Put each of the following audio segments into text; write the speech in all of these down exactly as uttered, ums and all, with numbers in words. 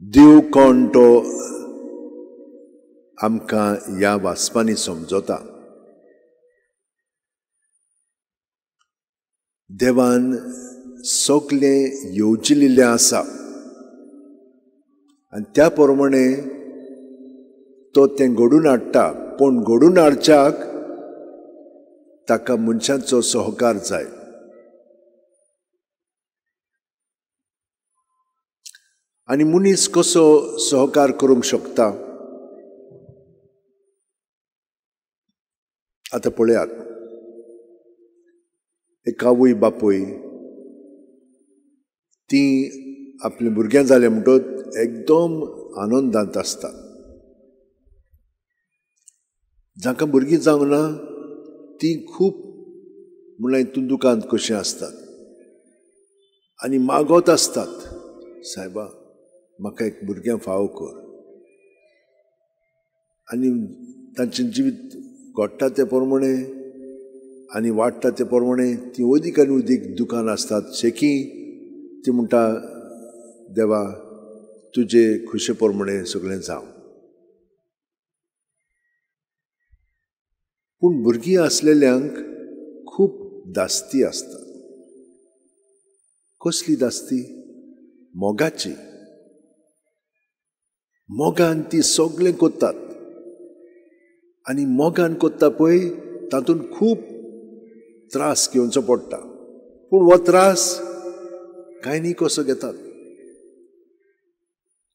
देव कोण तो आमकां ह्या वाचपांनी समजता. देवान सगळें येवजिल्लें आसा आनी त्या प्रमाणे तो तें घडून हाडटा. पूण घडून हाडच्याक ताका मनशांचो सहकार जाय. आनी मनीस कसो सहकार करूंक शकता? आतां पळयात, एक आवय बापूय ती आपल्या भुरग्यां जालें म्हणटकच एकदम आनंदांत आसता. जांकां भुरगीं जावंक ना ती खूब म्हणल्यार हितून दुकांत कशीं आसतात आनी मागत आसतात, सायबा म्हाका एक भुरग्यां फावो कर. आनी तांचें जिवीत घडटा ते प्रमाणे आनी वाडटा ते प्रमाणे ती अदीक आनी अदीक दुकान आसतात. शेकी ती म्हणटा, देवा तुजे खुशे प्रमाणे सगळें जावं. पूण भुरगीं आसलेल्यांक खूब दास्ती आसता. कसली दास्ती? मोगाची. मोगान ती सगळें करतात आनी मोगान करता पळय तातूंत खूब त्रास घेवचो पडटा. पूण हो त्रास कांय न्ही कसो घेतात.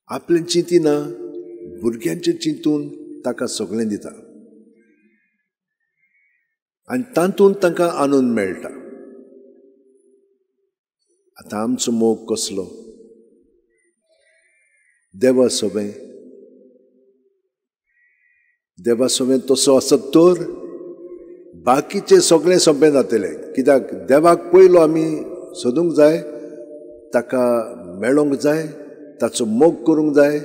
आपलें चिंतिना भुरग्यांचें चिंतून ताका सगळें दिता आनी तातूंत तांकां आनंद मेळटा. आतां आमचो मोग कसलो? देवा सोबें. देवा सोबें तसो आसत तर बाकीचें सगळें सोंपें जातलें. कित्याक देवाक पयलो आमी सोदूंक जाय, ताका मेळोंक जाय, ताचो मोग करूंक जाय.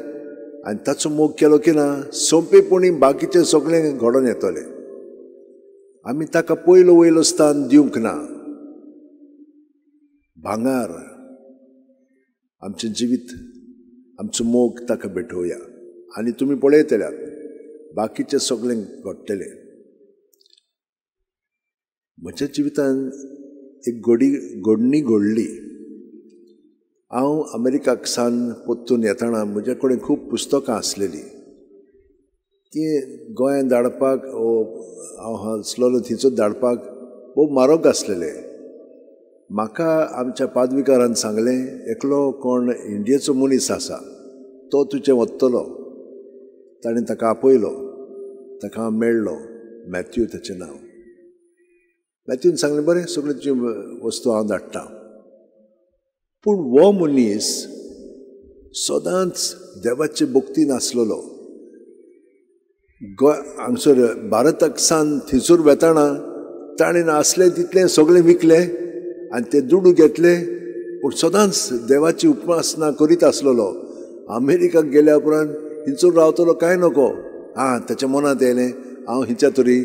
आनी ताचो मोग केलो की ना सोंपेपणी बाकीचें सगळें घडोवन येतलें. आमी ताका पयलो वयलो स्थान दिवंक ना. भांगार आमचें जिवीत, आमचो मोग ताका भेटोवया आनी तुमी पळयतल्यात बाकीचें सगळें घडटलें. म्हज्या जिवितान एक घडी घडणी घडली. हांव अमेरिकाक सान परतून येतना म्हज्या कडेन खूब पुस्तकां आसलेलीं. तीं गोंयांत धाडपाक हांव आसलेलो थंयसर धाडपाक भोव म्हारग आसलेलें. म्हाका आमच्या पादविकारान सांगलें, एकलो कोण इंडियेचो मनीस आसा तो तुजें वतलो. ताणें ताका आपयलो, ताका हांव मेळ्ळो. मॅथ्यू ताचें नांव. मॅथ्यून सांगलें, बरें सगळ्यो तुज्यो वस्तू हांव धाडटा. पूण हो मनीस सदांच देवाचे भक्तीन आसलेलो. गोंय हांगसर भारताक सान थंयसर वेताना ताणें आसलें तितलें सगळें विकलें आनी ते दुडू घेतले. पूण सदांच देवाची उपासना करीत आसलेलो. अमेरिकाक गेल्या उपरांत हिंचूर रावतलो कांय नको. आं, ताच्या मनांत येयलें, हांव हिच्या तरी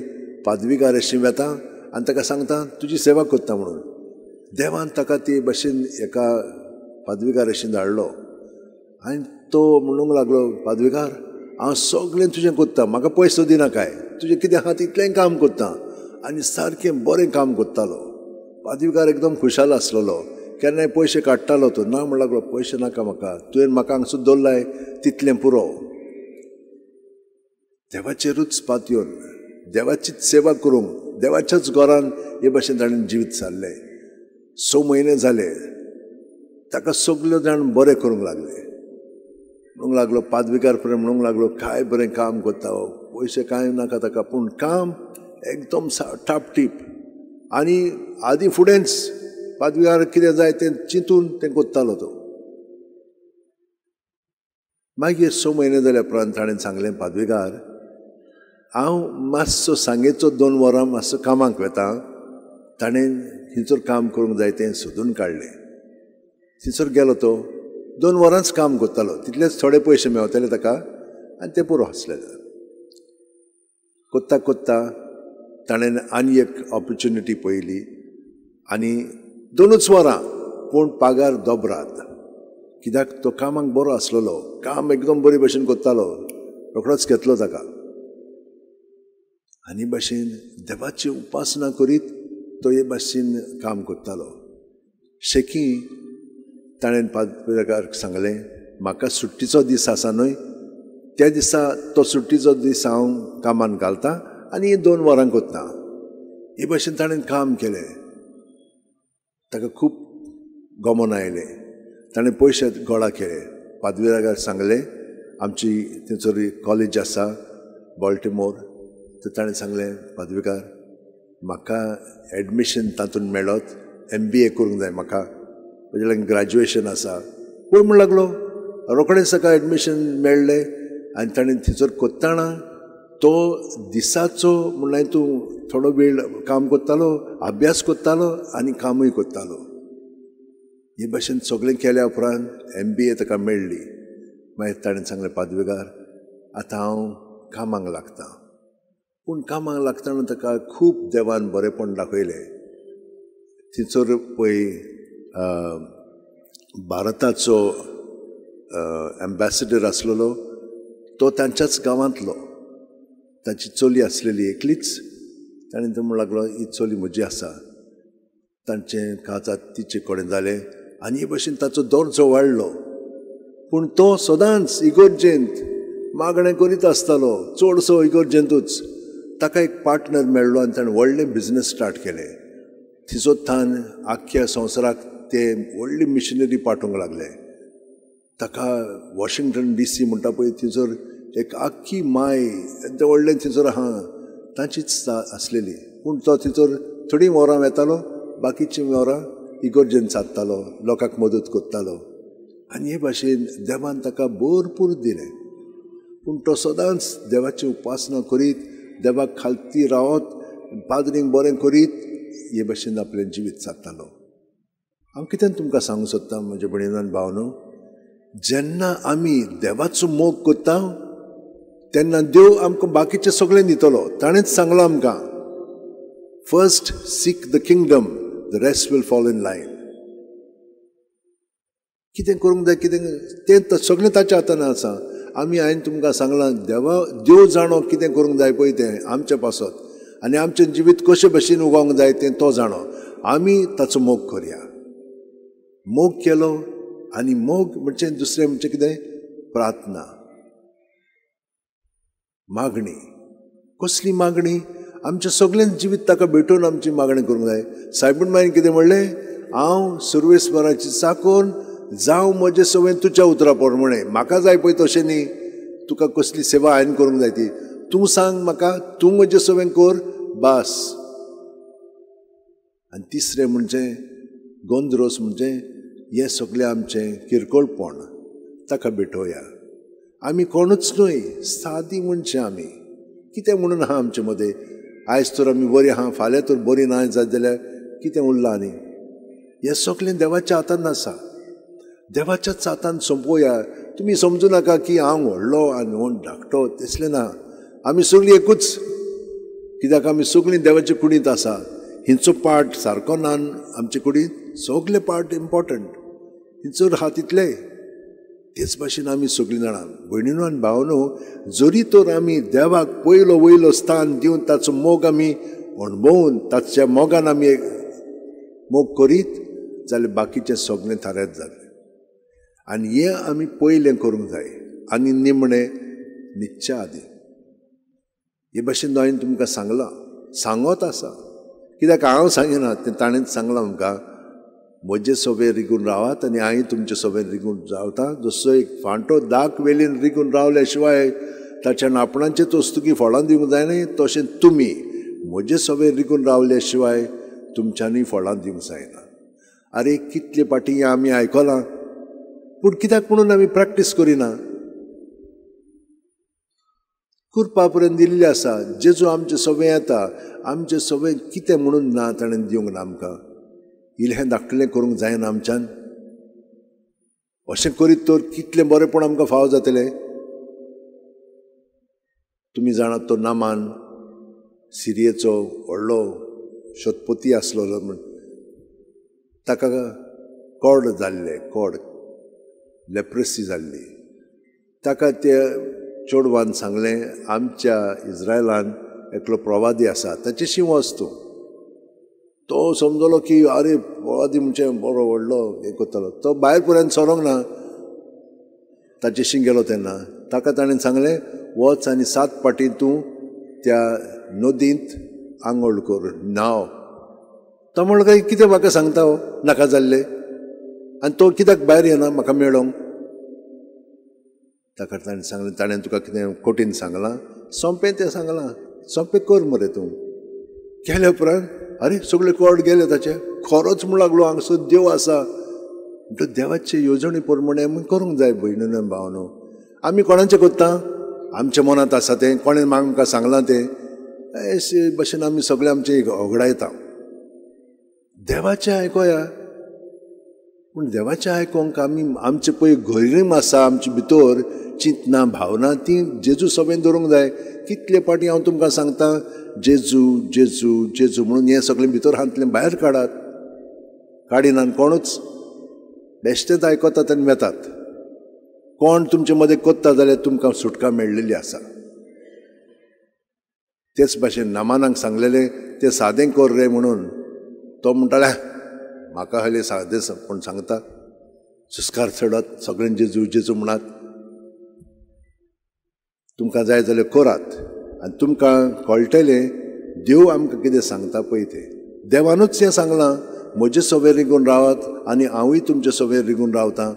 पादविकार अशी वेता आनी ताका सांगता तुजी सेवा करता म्हणून. देवान ताका ते भशेन एका पादविकार अशी धाडलो आनी तो म्हणूंक लागलो, पादविकार हांव सगळें तुजें करता, म्हाका पयसो दिना काय, तुजें कितें आहा तितलें काम करता. आनी सारकें बरें काम करतालो. पादविकार एकदम खुशाल आसलेलो. केन्नाय पयशे काडटालो तो. ना म्हण लागलो, पयशे नाका म्हाका, तुवें म्हाका हांगसर दवरलाय तितलें पुरो. देवाचेरूच पातयेवन देवाचीच सेवा करूंक देवाच्याच घरान हे भशेन ताणें जिवीत सारलें. स म्हयने जाले ताका सगळे जाण बरें करूंक लागले. म्हणूंक लागलो पादविकार पर्यंत म्हणूंक लागलो, काय बरें काम करता हो, पयशे कांय नाका ताका, पूण काम एकदम टापटीप. आनी आदी फुडेंच पादविकार कितें जाय तें चिंतून तें करतालो तो. मागीर स म्हयने जाल्या उपरांत ताणें सांगलें, पादविकार हांव मातसो सांगेचो दोन वरां मातसो कामाक वेता. ताणें थंयसर काम करूंक जाय तें सोदून काडलें. थंयसर गेलो तो, दोन वरांच काम करतालो, तितलेच थोडे पयशे मेवताले ताका आनी ते पुरो आसलेले. कोत्ता कोत्ता ताणें आनी एक ऑपर्च्युनिटी पळयली आनी दोनूच वरां पूण पागार दोबराद. कित्याक तो कामाक बरो आसलेलो, काम एकदम बरे भशेन करतालो, रोखडोच घेतलो ताका. आनी भाशेन देवाची उपासना करीत तो हे भाशेन काम करतालो. शेकी ताणें पाद्रीक सांगलें, म्हाका सुट्टीचो दीस आसा न्हय, त्या दिसा तो सुट्टीचो दीस हांव कामान घालता आनी दोन वरां करता. हे भाशेन ताणें काम केलें. ताका खूब गमन आयलें. ताणें पयशे गोळा केले. पाद्रीक सांगलें, आमची थंयसर कॉलेज आसा बॉल्टिमोर, तर ताणें सांगलें, पाद्रीकार म्हाका एडमिशन तातूंत मेळत, एम बी ए करूंक जाय म्हाका, म्हजें लागीं ग्रॅज्युएशन आसा. पळय म्हूण लागलो. रोखडेंच ताका एडमिशन मेळ्ळें आनी ताणें थंयसर करतना तो दिसाचो म्हणल्यार तूं थोडो वेळ काम करतालो, अभ्यास करतालो आनी कामूय करतालो. हे भाशेन सगळें केल्या उपरांत एम बी ए ताका मेळ्ळी. मागीर ताणें सांगलें, पाद्रीकार आतां हांव कामाक लागता. पूण कामाक लागतना ताका खूब देवान बरेंपण दाखयलें. थंयसर पळय भारताचो एम्बेसिडर आसलेलो, तो तांच्याच गांवांतलो. ताची चली आसलेली एकलीच. ताणें तो म्हणूंक लागलो, ही चली म्हजी आसा. तांचें काजात तिचे कडेन जालें आनी हे भशेन ताचो दर्जो वाडलो. पूण तो सदांच इगर्जेंत मागणें करीत आसतालो, चडसो इगर्जेंतूच. ताका एक पार्टनर मेळ्ळो आनी ताणें व्हडलें बिजनस स्टार्ट केलें. थंयसर थावन आख्ख्या संवसाराक ते व्हडली मिशनरी पाठोवंक लागले. ताका वॉशिंग्टन डी सी म्हणटा पळय, थंयसर एक आख्खी माय तें व्हडलें थंयसर आहा, तांचीच आसलेली. पूण तो थंयसर थोडीं वरां वेतालो, बाकीचीं वरां इगर्जेन सादतालो, लोकांक मदत करतालो. आनी हे भाशेन देवान ताका भरपूर दिलें. पूण तो सदांच देवाची उपासना करीत, देवाक खालती रावत, पाद्रींक बरें करीत हे भाशेन आपलें जिवीत सादतालो. हांव कितें तुमकां सांगूंक सोदतां म्हज्या भयणीन आनी भावनो, जेन्ना आमी देवाचो मोग करता तेन्ना देव आमकां बाकीचें सगळें दितलो. ताणेंच सांगलां आमकां, first seek the kingdom, the rest will fall in line. कितें करूंक जाय, कितें तें सगळें ताच्या हातान आसा. आमी हांवें तुमकां सांगलां, देवा देव जाणो कितें करूंक जाय पळय तें आमच्या पासत, आनी आमचें जिवीत कशे भशेन उगोवंक जाय तें तो जाणो. आमी ताचो मोग करया. मोग केलो आनी मोग म्हणजे दुसरें म्हणजे कितें, प्रार्थना, मागणी. कसली मागणी? आमचें सगळें जिवीत ताका भेटोवन आमची मागणी करूंक जाय. सायबूण मायन कितें म्हणलें, हांव सर्वेस्पराची चाकोन जावं म्हजें सवय तुज्या उतरा प्रमाणें. म्हाका जाय पळय तशें न्ही, तुका कसली सेवा हांवें करूंक जाय ती तूं सांग म्हाका, तूं म्हजें सवय कर बास. आनी तिसरें म्हणजे गोंद्रोस, म्हणजे हें सगळें आमचें किरकोळपण ताका भेटोवया. आमी कोणूच न्हय, सादी मनशां आमी. कितें म्हणून आहा आमचे मदें, आयज तर आमी बरीं आहा, फाल्यां तर बरीं ना जायत जाल्यार कितें उरलां? आनी हें सगळें देवाच्या हातान आसा. देवाच्याच हातान सोंपोवया. तुमी समजूं नाका की हांव व्हडलो आनी व्हड धाकटो, तसलें ना. आमी सगळीं एकूच, कित्याक आमी सगळीं देवाच्या कुडींत आसा. हिंचो पार्ट सारको ना आमचे कुडींत, सगळे पार्ट इम्पॉर्टंट, हिंचो आहा तितले. तेच भाशेन आमी सगळीं जाणां भयणीनो आनी भावनो, जरी तर आमी देवाक पयलो वयलो स्थान दिवन ताचो मोग आमी अणभवून ताच्या मोगान आमी मोग करीत जाल्यार बाकीचें सगळें थाऱ्यात जालें. आनी हें आमी पयलें करूंक जाय आनी निमणें न्हिदच्या आदीं. हे भाशेन हांवें तुमकां सांगलां, सांगत आसा, कित्याक हांव सांगिना तें ताणेंच सांगलां आमकां. म्हजे सोबेर रिगून रावात आनी हांवें तुमचे सोबेर रिगून रावता. जसो एक फांटो दाक वेलीन रिगून रावल्या शिवाय ताच्यान आपणाचेच वस्तुकी फळां दिवंक जायना, तशें तुमी म्हजे सोबेर रिगून रावल्या शिवाय तुमच्यांनी फळां दिवंक जायना. आरे कितले पाटी आमी आयकलां, पूण कित्याक म्हणून आमी प्रॅक्टीस करिना? कुरपा पर्यंत दिल्ली आसा. जेजू आमचे सवय येता, आमचे सवय कितें म्हणून ना ताणें दिवंक ना आमकां. इल्लें धाकटलें करूंक जायना आमच्यान? अशें करीत तर कितलें बरेंपण आमकां फावो जातलें. तुमी जाणात तो नामान सिरियेचो व्हडलो शतपती आसलो म्हण, ताका कोड जाल्लें, कोड लेप्रसी जाल्ली. ताका त्या चेडवान सांगलें, आमच्या इज्रायलान एकलो प्रवादी आसा, ताचेशी वच तूं. तो समजलो की आरे प्रवादी म्हणजे बरो व्हडलो हें करतालो. तो भायर पर्यंत सरोंक ना, ताचेशी गेलो तेन्ना ताका ताणें सांगलें, वच आनी सात पाटी तूं त्या नदींत आंगोळ कर, न्हांव. तो म्हणलो, काय कितें म्हाका सांगता हो, नाका जाल्लें, आनी तो कित्याक भायर येना म्हाका मेळोंक? ताका ताणें सांगलें, ताणें तुका कितें कठीण सांगलां, सोंपें तें सांगलां, सोंपें कर मरे तूं. केल्या उपरांत आरे सगळे कोड गेले ताचे, खरोच म्हूण लागलो हांगसर देव आसा. म्हणटकच देवाचे येवजणे प्रमाणे आमी करूंक जाय भयणीनो भावनो. आमी कोणाचें करता, आमच्या मनांत आसा तें, कोणें आमकां सांगलां तें, अशे भशेन आमी सगळें आमचें होगडायता. देवाचें आयकोया, पूण देवाचें आयकोंक आमी आमचें पळय गरीम आसा आमचे भितर चिंतना भावना ती जेजू सभेन दवरूंक जाय. कितले पाटी हांव तुमकां सांगता, जेजू जेजू जेजू म्हणून हें सगळें भितर हांतलें भायर काडात. काडिनान कोणूच, बेश्टेच आयकतात आनी वेतात. कोण तुमचे मदें कोत्ता जाल्यार तुमकां सुटका मेळ्ळेली आसा. तेच भाशेन नामानाक सांगलेलें तें सादें कर रे म्हणून, तो म्हणटाले म्हाका हयलें सादें कोण सांगता, सुस्कार चडात सगळ्यां जेजू जेजू म्हणात. तुमकां जाय जाल्यार करात आनी तुमकां कळटलें देव आमकां कितें सांगता पळय तें. देवानूच हें सांगलां, म्हजे सवेर रिगून रावात आनी हांवूय तुमचे सवेर रिगून रावतां.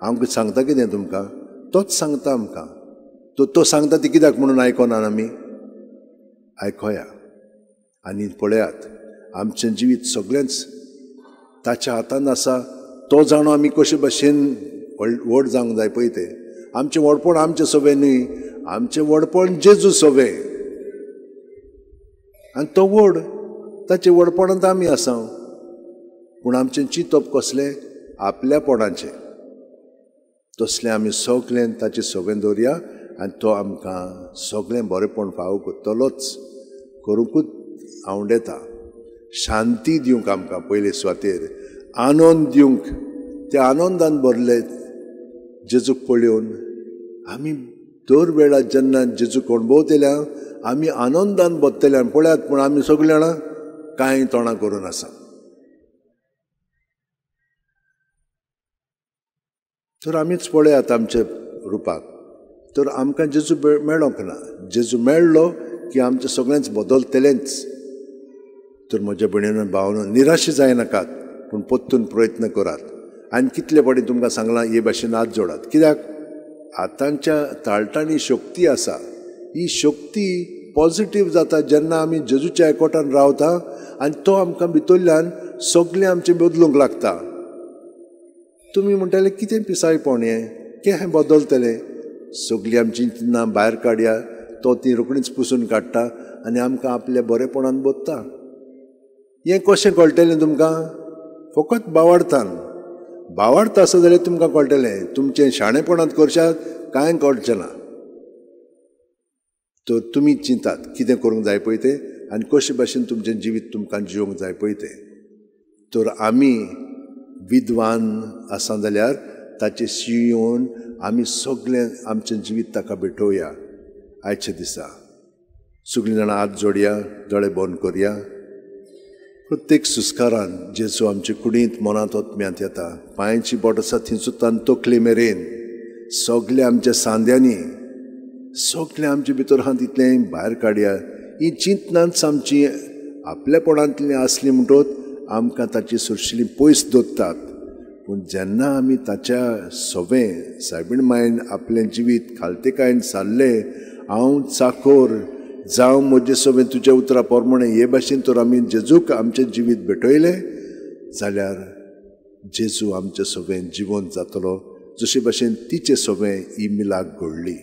हांव सांगता कितें तुमकां, तोच सांगता आमकां. तो तो सांगता ती कित्याक म्हणून आयकना आमी? आयकोया आनी पळयात, आमचें जिवीत सगळेंच ताच्या हातान आसा. तो जाणो आमी कशे भशेन व्हड जावंक जाय पळय तें. आमचें व्हडपण आमचें सवें न्हय, आमचें व्हडपण जेजू सवें, आनी तो व्हड, ताचें व्हडपणांत आमी आसा. पूण आमचें चिंतप कसलें, आपल्यापणाचें. तसलें आमी सगळें ताचें सवें दवरया आनी तो आमकां सगळें बरेंपण फावो करतलोच, करूंकूच आवडेता. शांती दिवंक आमकां पयले सुवातेर, आनंद दिवंक, त्या आनंदान भरले जेजूक पळोवन आमी दर वेळार जेन्ना जेजूक अणभवतल्या आमी आनंदान भरतले. पळयात, पूण आमी सगळीं जाणां कांय तोंडां करून आसा. तर आमीच पळयात आमच्या रुपाक, तर आमकां जेजू मेळोंक ना. जेजू मेळ्ळो की आमचें सगळेंच बदलतलेंच. तर म्हज्या भयणीनो भावनो, निराशे जायनाकात, पूण परतून प्रयत्न करात. आनी कितले फावटी तुमकां सांगलां, हे भाशेन हात जोडात. कित्याक आतांच्या ताळटांनी शक्ती आसा. ही शक्ती पॉजिटीव जाता जेन्ना आमी जेजूच्या एकवटान रावता आनी तो आमकां भितरल्यान सगळें आमचें बदलूंक लागता. तुमी म्हणटाले कितें पिसायपण हें, कितें बदलतलें? सगळीं आमची चिंतना भायर काडया, तो ती रोखडीच पुसून काडटा आनी आमकां आपल्या बरेपणान बदता. हें कशें कळटलें तुमकां? फकत बावाडतान. बावाडता आसा जाल्यार तुमकां कळटलें, तुमचें शाणेपणांत करशात कांय कळचें ना. तर तुमी चिंतात कितें करूंक जाय पळय तें आनी कशे भाशेन तुमचें जिवीत तुमकां जिवंक जाय पळय तें. तर आमी विद्वान आसा जाल्यार ताचे शिंवन आमी सगळें आमचें जिवीत ताका भेटोवया. आयच्या दिसा सगळीं जाणां हात जोडया, दोळे बंद करया. प्रत्येक सुस्कारान जेजू आमचे कुडींत, मनांत, आत्म्यांत येता. पांयांची बोट आसा थंयसून तकले मेरेन सगळें आमच्या सांद्यांनी, सगळें आमचे भितर आहा तितलें भायर काडया. ही चिंतनाच आमची आपल्यापणांतली आसली म्हणटकच आमकां ताची सुरशिली पयस दवरतात. पूण जेन्ना आमी ताच्या सवें सायबीण मायन आपलें जिवीत खालतेकायेन सारलें, हांव चाकोर जावं म्हजे सवें तुज्या उतरा प्रमाणे, हे भाशेन तर आमी जेजूक आमचें जिवीत भेटयलें जाल्यार जेजू आमचे सवें जिवंत जातलो, जशे भाशेन तिचे सवें ही मिलाक घडली.